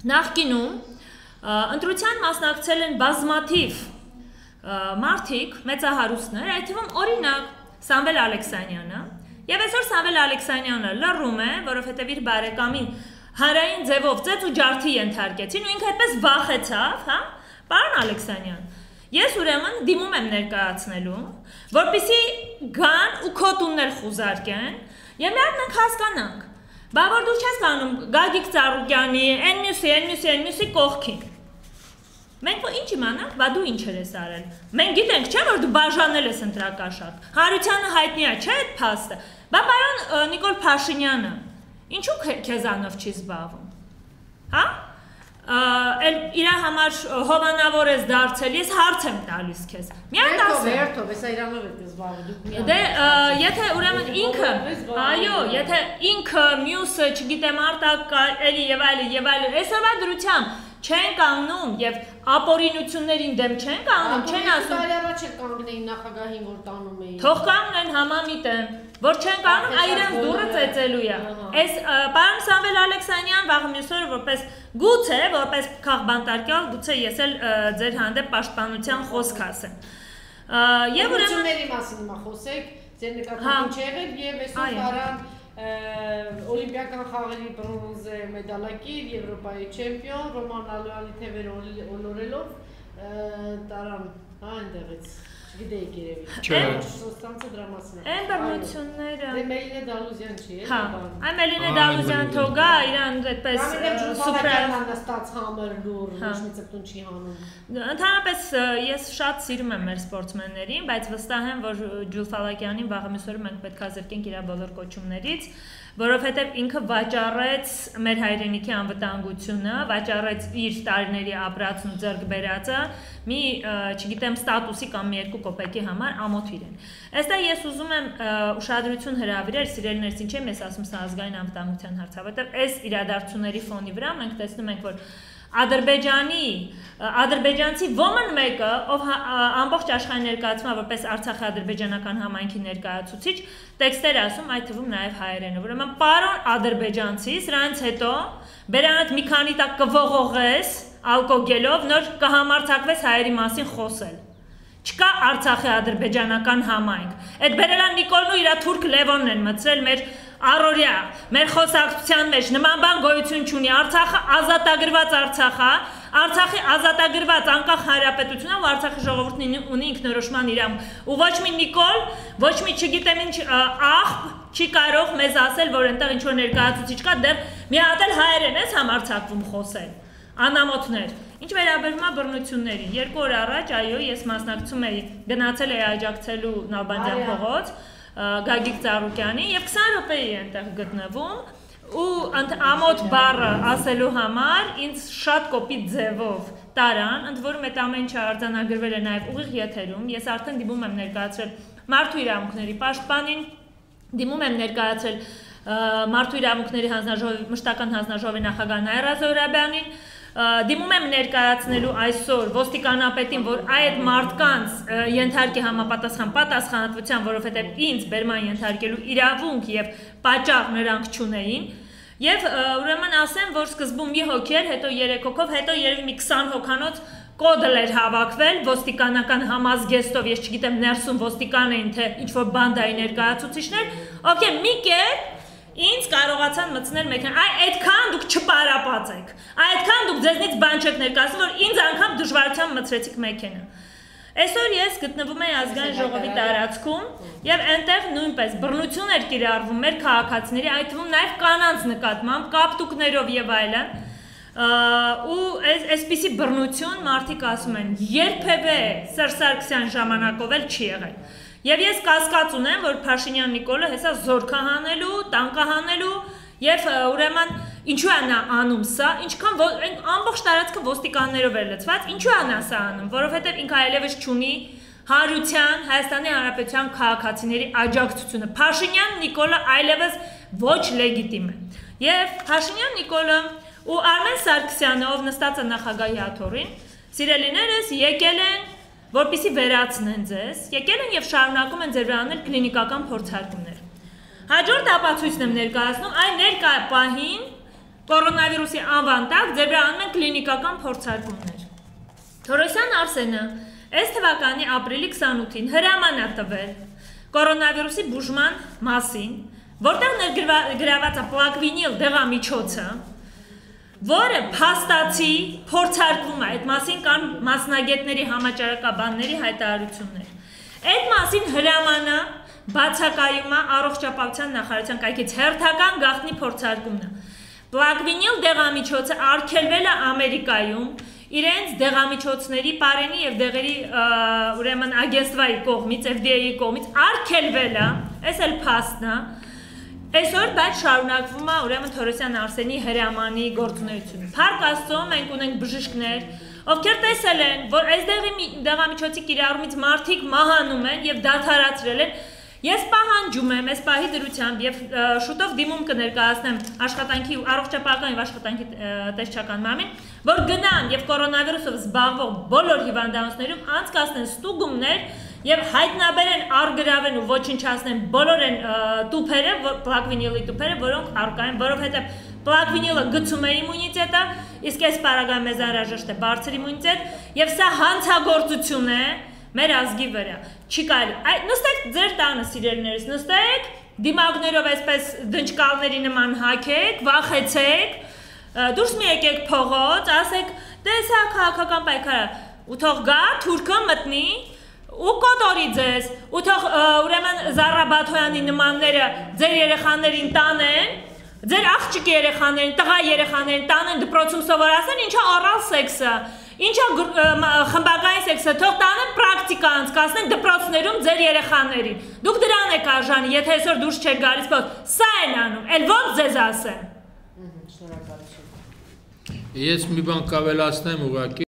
Նախկինում ընտրության մասնակցել են բազմաթիվ մարդիկ, մեծահարուստներ, այդ թվում օրինակ Սամվել Ալեքսանյանը, եւ այսօր Սամվել Ալեքսանյանը լռում է, որովհետեւ իր բարեկամին հանրային ձևով ծեծ ու ջարդի ենթարկեցին ու ինքը այդպես վախեցավ, հա? Պարոն Ալեքսանյան, ես ուրեմն դիմում եմ ներկայացնելու, որպեսզի գան ու քո տունն էլ խուզարկեն, եւ մենք հասկանանք, բա որ դու չես կանում Գագիկ Ծառուկյանի, այն մյուսի կողքին։ Մենք ինչ իմանանք, բա դու ինչ ես արել։ Մենք գիտենք, չէ՞ որ դու բաժանել ես ընտրակաշառք։ Հարությանը հայտնի է, չէ՞ այդ փաստը։ Բա պարոն Նիկոլ Փաշինյանը ինչու քեզանով չի զբաղվում։ Հա? Իր համար հովանավոր ես դարձել, ես հարց եմ տալիս քեզ։ Միայն ասա։ Վերթով, հեսա իրանով եք զբաղվում։ Դե, եթե ուրեմն ինքը, այո, եթե ինքը մյուսը, չգիտեմ, արտակ էլի եւ այլն, այսօրվա դրությամբ չեն կանգնում եւ ապօրինություններին դեմ չեն կանգնում, չեն ասում։ Տարիառաջ է կանգնեին նախագահին, որ տանում էին։ Թող կանգնեն համամիտ են, որ չեն կանգնում, այրանց դուրը ծեծելու է։ Այս պարոն Սամվել Ալեքսանյան վաղ մյուս օրը որպես գուցե, որպես քաղբանտարկյալ, գուցե ես էլ ձեր հանդեպ պաշտպանության խոսք ասեմ։ Եվ ուրեմն մասին հիմա խոսեք, ձեր նկատմամբ ինչ եղել եւ այսօր տարան Օլիմպիական խաղերի բրոնզե մեդալակիր, Եվրոպայի չեմպիոն, Ռոման Ալոյանի թևերը ոլորելով տարան, այնտեղից, չգիտեիք երևի, Սոստանցը դրա մասին է։ Այն բռնությունները։ Դե Մելինե Դալուզյան չի, հա, այ Մելինե Դալուզյան թողա, իրան այդպես սուպրալ նստած համր լուր, ոչ մի ծպտուն չի հանում։ Ընդհանրապես ես շատ սիրում եմ մեր սպորտսմեններին, բայց վստահ եմ, որ Ջուլֆալակյանին վաղը մյուս օրը մենք պետք է զրկենք իր բոլոր կոչումներից, որովհետև ինքը վաճառեց մեր հայրենիքի անվտանգությունը, վաճառեց իր տարիների ապրածն ու ձեռք բերածը մի, չգիտեմ, ստատուսի կամ մի երկու կոպեկի համար ամոթ իրեն։ Այստեղ ես ուզում եմ ուշադրություն հրավիրել, սիրելիներս, ինչ եմ ես ասում սա ազգային անվտանգության հարց, որովհետև այս իրադարձությունների ֆոնի վրա մենք տեսնում ենք, որ ադրբեջանցի ոմն մեկը, ով ամբողջ աշխարհի ներկայացնում է որպես Արցախի ադրբեջանական համայնքի ներկայացուցիչ, տեքստեր ասում, այդ թվում նաև հայերենով։ Ուրեմն պարոն ադրբեջանցի, սրանից հետո բերանդ մի քանի տակ կողողես ալկոգելով, նոր կհամարձակվես հայերի մասին խոսել։ Չկա Արցախի ադրբեջանական համայնք։ Այդ բերելան Նիկոլն ու իր թուրք Լևոնն են մտցրել մեր առօրյա, մեր խոսակցության մեջ նման բան գոյություն չունի։ Արցախը ազատագրված Արցախ է, Արցախի ազատագրված անկախ հանրապետությունն ու Արցախի ժողովուրդն ունի ինքնորոշման իրավունք։ Ու ոչ մի Նիկոլ, ոչ մի չգիտեմ ինչ աղբ չի կարող մեզ ասել, որ այնտեղ ինչ որ ներկայացուցիչ կա, դեռ մի հատ էլ հայերեն ես համարձակվում խոսել։ Անամոթներ։ Ինչ վերաբերում է բռնություններին, 2 օր առաջ, այո, ես մասնակցում էի, գնացել էի աջակցելու Նալբանդյան փողոց Գագիկ Ծառուկյանի եւ 20 րոպեի այնտեղ գտնվում ու ամոթ բառը ասելու համար ինձ շատ կոպիտ ձևով տարան, ընդ որում այդ ամեն ինչը արձանագրվել է նաեւ ուղիղ եթերում, ես արդեն դիմում եմ ներկայացրել մարդու իրավունքների պաշտպանին, դիմում եմ ներկայացրել մարդու իրավունքների հանձնաժողովի մշտական հանձնաժողովի նախագահ Նաիրա Զոհրաբյանին, դիմում եմ ներկայացնելու այսօր ոստիկանապետին, որ այդ մարդկանց ենթարկի համապատասխան պատասխանատվության, որովհետև ինձ բերման ենթարկելու իրավունք եւ պատճառ նրանք չունեին, եւ ուրեմն ասեմ, որ սկզբում մի հոգի էր, հետո 3 հոգով, հետո երևի մի 20 հոգանոց կոդել էր հավաքվել ոստիկանական համազգեստով, ես չգիտեմ ներսում ոստիկան էին, թե ինչ որ բանդայի ներկայացուցիչներ, օքեյ, մի կերպ ինձ կարողացան մտցնել մեքենա, այդքան դուք չպարապած եք, այդքան դուք ձեզնից բան չեք ներկայացնում, որ ինձ անգամ դժվարությամբ մտցրեցիք մեքենա։ Այսօր ես գտնվում եմ ազգային ժողովի տարածքում եւ այնտեղ նույնպես բռնություն էր կիրառվում մեր քաղաքացիների, այդ թվում նաեւ կանանց նկատմամբ, կապտուկներով եւ այլն։ Ու այսպիսի բռնություն մարդիկ ասում են, երբևէ Սերժ Սարգսյան ժամանակով էլ չի եղել։ Եվ ես կասկած ունեմ, որ Փաշինյան Նիկոլը հեսա զորքա հանելու, տանկա հանելու եւ ուրեմն ինչու է նա անում սա, ինչքան ամբողջ տարածքը ոստիկաններով էր լցված, ինչու է նա սա անում, որովհետեւ ինքը այլևս չունի հանրության Հայաստանի Հանրապետության քաղաքացիների աջակցությունը։ Փաշինյան Նիկոլը այլևս ոչ լեգիտիմ է։ Եվ Փաշինյան Նիկոլը ու Արմեն Սարգսյանը, ով նստած է նախագահի աթոռին, սիրելիներս եկել են որպեսզի վերացնեն ձեզ, եկել են եւ շարունակում են ձեր վրա անել կլինիկական փորձարկումներ։ Հաջորդ ապացույցն եմ ներկայացնում, այն ներկա պահին կորոնավիրուսի անվան տակ ձեր վրա անում են կլինիկական փորձարկումներ։ Թորոսյան Արսենը այս թվականի ապրիլի 28-ին հրաման է տվել կորոնավիրուսի բուժման մասին, որտեղ ներգրաված է պլակվինիլ դեղամիջոցը, որը փաստացի փորձարկվում է, այդ մասին կան մասնագետների համաճարակաբանների հայտարարություններ։ Այդ մասին հրամանը բացակայում է առողջապահության նախարարության կայքից հերթական գաղտնի փորձարկումն է։ Պլակվինիլ դեղամիջոցը արգելվել է Ամերիկայում իրենց դեղամիջոցների պարենի եւ դեղերի ուրեմն ագենստվայի կողմից, FDA-ի կողմից արգելվել է, այս էլ փաստն է։ Այսօր բայց շարունակվում է ուրեմն Թորոսյան Արսենի հրամանի գործունեությունը։ Փառք Աստծո, մենք ունենք բժիշկներ, ովքեր տեսել են, որ այս դեղամիջոցի կիրառումից մարդիկ մահանում են եւ դադարացրել են։ Ես պահանջում եմ այս պահի դրությամբ եւ շուտով դիմում կներկայացնեմ աշխատանքի առողջապահական եւ աշխատանքի տեսչական մարմին, որ գնան եւ կորոնավիրուսով զբաղվող բոլոր հիվանդանոցներում անցկացնեն ստուգումներ եւ հայտնաբերեն, արգրավեն ու ոչնչացնեն բոլոր այն տուփերը, պլակվինիլի տուփերը, որոնք առկա են, որովհետեւ պլակվինիլը գցում է իմունիտետը, իսկ այս պարագայում մեզ անհրաժեշտ է բարձր իմունիտետ եւ սա հանցագործություն է մեր ազգի վրա։ Չի կարելի։ Նստեք ձեր տանը, սիրելիներս, նստեք, դիմակներով այսպես դնչկալների նման հագեք, վախեցեք, դուրս մի եկեք փողոց, ասեք, դե սա քաղաքական պայքար է, ու թող գա, թուրքը մտնի, ու կոտորի ձեզ, ու թող ուրեմն Զառա Բաթոյանի նմանները ձեր երեխաներին տանեն, ձեր աղջիկ երեխաներին, տղա երեխաներին տանեն դպրոցում սովորացնեն, ինչա օրալ սեքսը, ինչա խմբակային սեքսը, թող տանեն պրակտիկա անցկացնեն դպրոցներում ձեր երեխաներին։ Դուք դրան եք արժանի, եթե այսօր դուրս չեք գալիս, սա են անում, էլ ոնց ձեզ ասեմ։ Ես մի բան կավելացնեմ ուղղակի